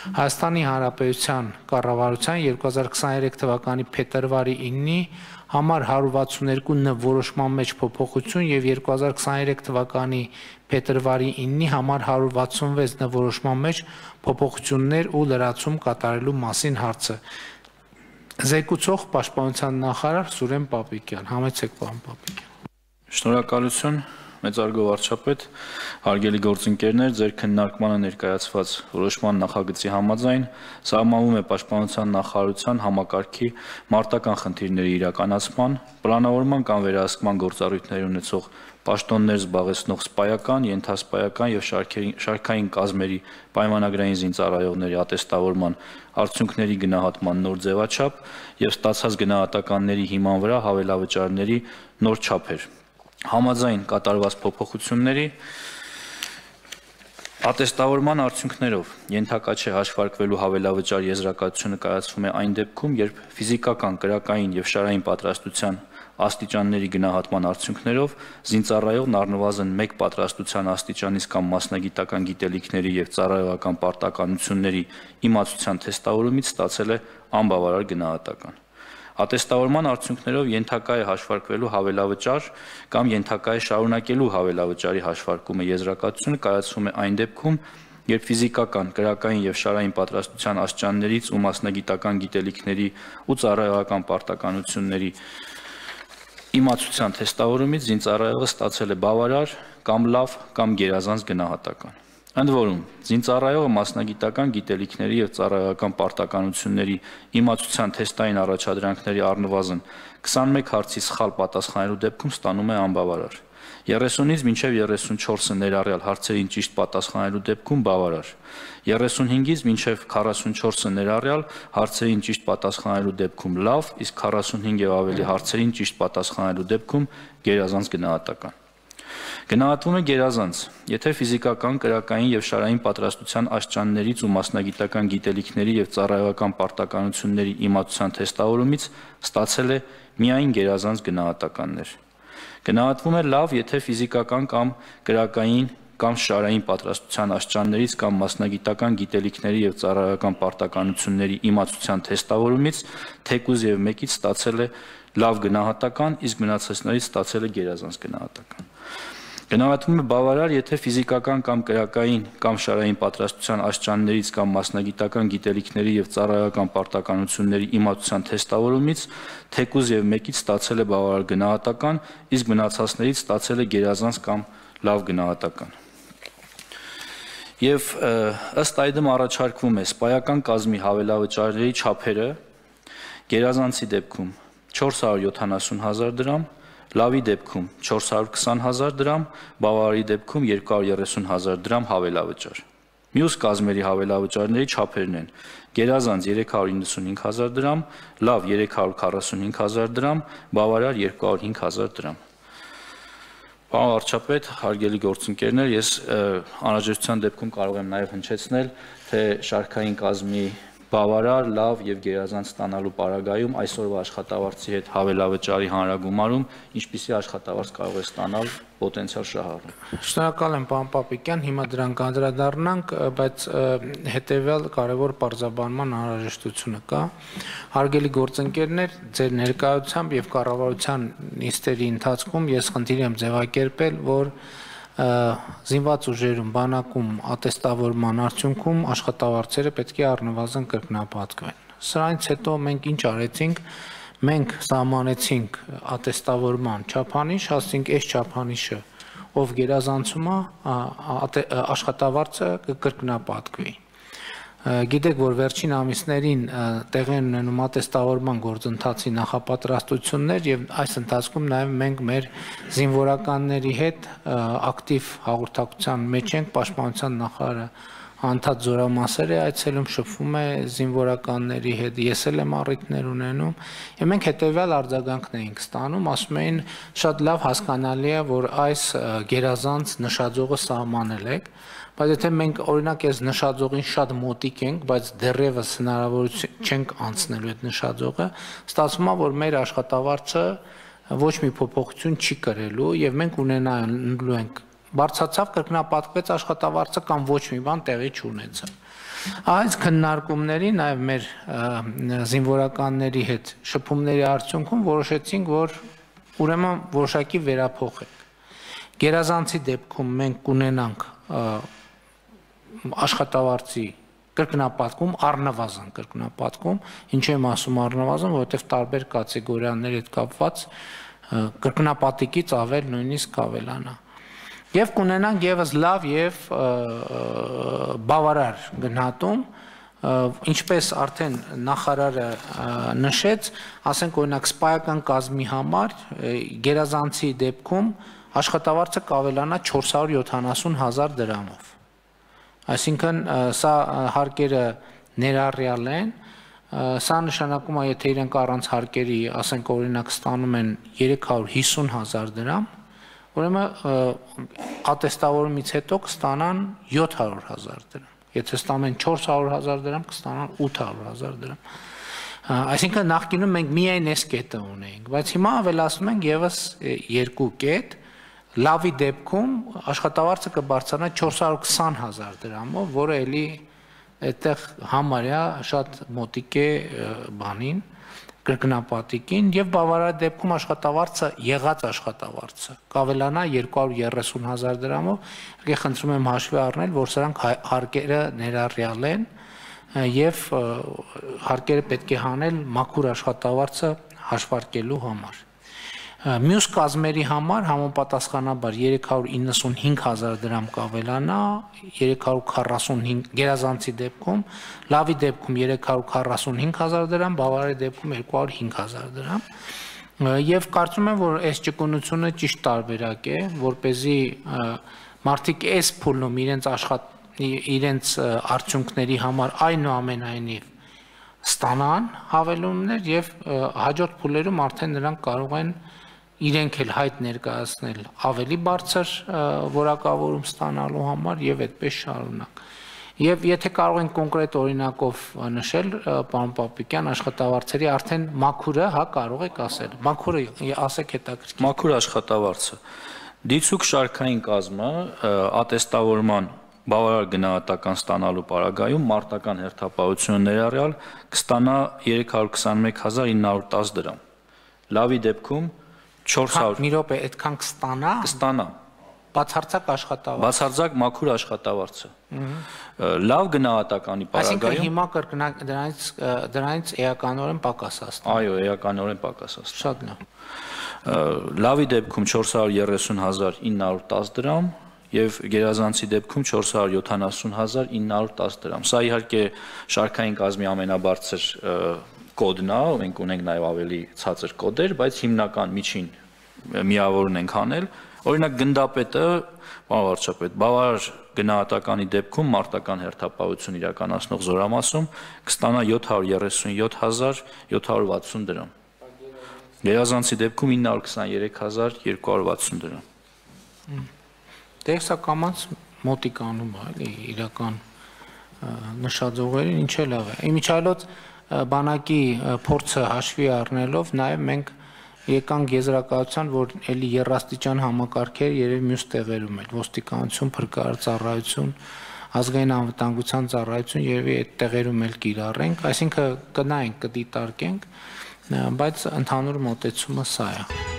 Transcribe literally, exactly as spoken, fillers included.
Հայաստանի Հանրապետության կառավարության երկու հազար քսաներեք թվականի փետրվարի իննի համար հարյուր վաթսուններկու ն որոշման մեջ փոփոխություն եւ երկու հազար քսաներեք թվականի փետրվարի իննի համար հարյուր վաթսունվեց ն որոշման մեջ փոփոխություններ ու լրացում կատարելու մասին հարցը։ Զեկուցող Պաշտպանության նախարար Սուրեն Պապիկյան, համեցեք պարոն Պապիկյան։ Շնորհակալություն, մեծարգո վարչապետ, հարգելի գործընկերներ, ձեր քննարկմանը ներկայացված որոշման նախագծի համաձայն սահմանվում է Պաշտպանության նախարարության համակարգի մարտական խնդիրների իրականացման, պլանավորման կամ վերահսկման գործառույթներ ունեցող պաշտոններ զբաղեցնող սպայական, ենթասպայական եւ շարքային կազմերի պայմանագրային զինծառայողների ատեստավորման արդյունքների գնահատման նոր ձևաչափ եւ ստացած գնահատականների հիման վրա հավելավճարների նոր չափեր։ Համաձայն կատարված փոփոխությունների ատեստավորման արդյունքներով ենթակա չէ հաշվարկվելու հավելավճար եզրակացությունը կայացվում է այն դեպքում, երբ ֆիզիկական, կրակային եւ շարային պատրաստության աստիճանների գնահատման արդյունքներով զինծառայողն առնվազն մեկ պատրաստության աստիճանից կամ մասնագիտական գիտելիքների եւ ծառայողական պարտականությունների իմացության թեստավորումից ստացել է անբավարար գնահատական։ Ատեստավորման արդյունքներով ենթակա է հաշվարկվելու հավելավճար կամ ենթակա է շարունակելու հավելավճարի հաշվարկումը եզրակացությունը կայացվում է այն դեպքում, երբ ֆիզիկական, կրակային եւ շարային պատրաստության աստիճաններից ու մասնագիտական գիտելիքների ու ծառայողական պարտականությունների իմացության թեստավորումից զինծառայողը ստացել է բավարար կամ լավ կամ գերազանց գնահատական։ Ընդ որում, զինծառայողը մասնագիտական գիտելիքների եւ ծառայողական պարտականությունների իմացության թեստային առաջադրանքների առնվազն քսանմեկ հարցի սխալ պատասխանելու դեպքում ստանում է անբավարար։ երեսունից մինչև երեսունչորսը ներառյալ հարցերին ճիշտ պատասխանելու դեպքում բավարար։ երեսունհինգից մինչև քառասունչորսը ներառյալ հարցերին ճիշտ պատասխանելու դեպքում լավ, իսկ քառասունհինգ եւ ավելի հարցերին ճիշտ պատասխանելու դեպքում գերազանց գնահատական։ Գնահատվում է գերազանց, եթե ֆիզիկական, կրակային եւ շարային պատրաստության աստիճաններից ու մասնագիտական գիտելիքների եւ ծառայողական պարտականությունների իմացության թեստավորումից ստացել է միայն գերազանց գնահատականներ։ Գնահատվում է լավ, եթե ֆիզիկական կամ կրակային կամ շարային պատրաստության աստիճաններից կամ մասնագիտական գիտելիքների եւ ծառայողական պարտականությունների իմացության թեստավորումից թեկուզ եւ մեկից ստացել է լավ գնահատական, իսկ մնացածներից ստացել է գերազանց գնահատական։ Գնահատվում է բավարար, եթե ֆիզիկական կամ կրակային կամ շարային պատրաստության աստիճաններից կամ մասնագիտական գիտելիքների եւ ծառայողական պարտականությունների իմացության թեստավորումից թեկուզ եւ մեկից ստացել է բավարար գնահատական, իսկ մնացածներից ստացել է գերազանց կամ լավ գնահատական։ Եվ ըստ այդմ առաջարկվում է սպայական կազմի հավելավճարների չափերը գերազանցի դեպքում չորս հարյուր յոթանասուն հազար դրամ, լավի դեպքում չորս հարյուր քսան հազար դրամ, բավարարի դեպքում երկու հարյուր երեսուն հազար դրամ հավելավճար։ Մյուս կազմերի հավելավճարների չափերն են գերազանց երեք հարյուր իննսունհինգ հազար դրամ, լավ երեք հարյուր քառասունհինգ հազար դրամ, բավարար երկու հարյուր հինգ հազար դրամ։ Պարոն վարչապետ, հարգելի գործընկերներ, ես անհրաժեշտության դեպքում կարող եմ նաև հնչեցնել, թե շարքային կազմի բավարար, լավ եւ գերազանց ստանալու պարագայում այսօրվա աշխատավարձի հետ հավելավճարի հանրագումարում ինչպիսի աշխատավարձ կարող է ստանալ պոտենցիալ շահառու։ Շնորհակալ եմ պարոն Պապիկյան, հիմա դրան կանդրադառնանք, բայց հետեւյալ կարևոր բարձրաբանման անհրաժեշտությունը կա։ Հարգելի գործընկերներ, ձեր ներկայությամբ եւ կառավարության նիստերի ընթացքում ես խնդիր եմ ձևակերպել, որ զինված ուժերում բանակում ատեստավորման արդյունքում աշխատավարձերը պետք է առնվազն կրկնապատկվեն։ Սրանից հետո մենք ինչ արեցինք, մենք սահմանեցինք ատեստավորման չափանիշ, ասենք այս չափանիշը ով գերազանցում է, աշխատավարձը կկրկնապատկվի։ Գիտեք, որ վերջին ամիսներին տեղի են ունենում ատեստավորման գործընթացի նախապատրաստություններ եւ այս ընթացքում նաեւ մենք մեր զինվորականների հետ ակտիվ հաղորդակցության մեջ ենք, Պաշտպանության նախարարը անդադ զորամասեր է այցելում, շփվում է զինվորականների հետ, ես էլ եմ առիթներ ունենում եւ մենք հետեւյալ արձագանքն էինք ստանում, ասում էին շատ լավ հասկանալի է, որ այս գերազանց նշաձողը սահմանել եք, բայց եթե մենք օրինակ այս նշաձողին շատ մոտիկ ենք, բայց դեռևս հնարավորություն չենք անցնելու այդ նշաձողը, ստացվում է, որ մեր աշխատավարձը ոչ մի փոփոխություն չի կրելու եւ մենք ունենալու ենք բարձրացավ, կրկնապատկվեց աշխատավարձը կամ ոչ մի բան տեղի չունեցավ։ Այս քննարկումների, նաև մեր զինվորականների հետ շփումների արդյունքում որոշեցինք, որ ուրեմն որոշակի վերափոխենք։ Գերազանցի դեպքում մենք կունենանք աշխատավարձի կրկնապատկում, առնվազն կրկնապատկում, ինչ եմ ասում առնվազն, որովհետև տարբեր կատեգորիաների հետ կապված կրկնապատիկից ավել նույնիսկ կավելանա։ Եվ կունենանք ևս լավ եւ բավարար գնահատում, ինչպես արդեն նախարարը նշեց, ասենք օրինակ սպայական կազմի համար գերազանցի դեպքում աշխատավարձը կավելանա չորս հարյուր յոթանասուն հազար դրամով։ Այսինքն սա հարկերը ներառյալ են, սա նշանակում է, եթե իրենք առանց հարկերի, ասենք օրինակ ստանում են երեք հարյուր հիսուն հազար դրամ, ուրեմն ատեստավորումից հետո կստանան յոթ հարյուր հազար դրամ, եթե ստանում են չորս հարյուր հազար դրամ, կստանան ութ հարյուր հազար դրամ։ Այսինքն նախկինում մենք միայն այս կետը ունեինք, բայց հիմա ավելացնում ենք ևս երկու կետ, լավի դեպքում աշխատավարձը կբարձրանա չորս հարյուր քսան հազար դրամով, որը էլի այդտեղ համարյա շատ մոտիկ է բանին, կրկնապատիկին, եւ բավարար դեպքում աշխատավարձը, եղած աշխատավարձը կավելանա երկու հարյուր երեսուն հազար դրամով, եկե խնդրում եմ հաշվի առնել, որ սրանք հարկերը ներառյալ են եւ հարկերը պետք է հանել մաքուր աշխատավարձը հաշվարկելու համար։ Մյուս կազմերի համար համապատասխանաբար երեք հարյուր իննսունհինգ հազար դրամ կավելանա, երեք հարյուր քառասունհինգ գերազանցի դեպքում, լավի դեպքում երեք հարյուր քառասունհինգ հազար դրամ, բավարարի դեպքում երկու հարյուր հինգ հազար դրամ։ Եվ կարծում եմ, որ այս ճկունությունը ճիշտ տարբերակ է, որպեսզի մարդիկ այս փուլում իրենց աշխատ իրենց արդյունքների համար այնուամենայնիվ ստանան հավելումներ եւ հաջորդ փուլերում արդեն նրանք կարող են իրենք էլ հայտ ներկայացնել ավելի բարձր որակավորում ստանալու համար եւ այդպես շարունակ։ Եվ եթե կարող են կոնկրետ օրինակով նշել, պարոն Պապիկյան, աշխատավարձերի արդեն մաքուրը, հա, կարող եք ասել։ Մաքուրը ասեք հետաքրքիր։ Մաքուր աշխատավարձը։ Դիցուք շարքային կազմը ատեստավորման բավարար գնահատական ստանալու պարագայում մարտական հերթապահությունը ներառյալ կստանա երեք հարյուր քսանմեկ հազար ինը հարյուր տասը դրամ։ Լավի դեպքում չորս հարյուր մի րոպե այդքան կստանա։ Կստանա։ Բացարձակ աշխատավարձ։ Բացարձակ մաքուր աշխատավարձը։ Լավ գնահատականի պարագայում։ Այսինքն հիմա կրկնակ դրանից դրանից էականորեն պակաս աստա։ Այո, էականորեն պակաս աստա։ Շատ լավ։ Լավի դեպքում չորս հարյուր երեսուն հազար ինը հարյուր տասը դրամ եւ գերազանցի դեպքում չորս հարյուր յոթանասուն հազար ինը հարյուր տասը դրամ։ Սա իհարկե շարքային կազմի ամենաբարձր կոդն է, մենք ունենք նաեւ ավելի ցածր կոդեր, բայց հիմնական միջին միավորն ենք անել։ Օրինակ գնդապետը, պարոն վարչապետ, բավարար գնահատականի դեպքում մարտական հերթապահություն իրականացնող զորամասում կստանա յոթ հարյուր երեսունյոթ հազար յոթ հարյուր վաթսուն դրամ։ Գերազանցի դեպքում ինը հարյուր քսաներեք հազար երկու հարյուր վաթսուն դրամ։ Դե սա կամած մոտիկանում է, էլի իրական նշաձողերին ինչ է լավ է։ Իմիջիայլոց բանակի փորձը հաշվի առնելով նաև մենք եկանք եզրակացության, որ էլի երաստիճան համակարգեր երևի մյուս տեղերում էլ ոստիկանություն, փրկարար ծառայություն, ազգային անվտանգության ծառայություն երևի այդ տեղերում էլ կիրառենք, այսինքն կնայենք, կդիտարկենք, բայց ընդհանուր մոտեցումը սա է։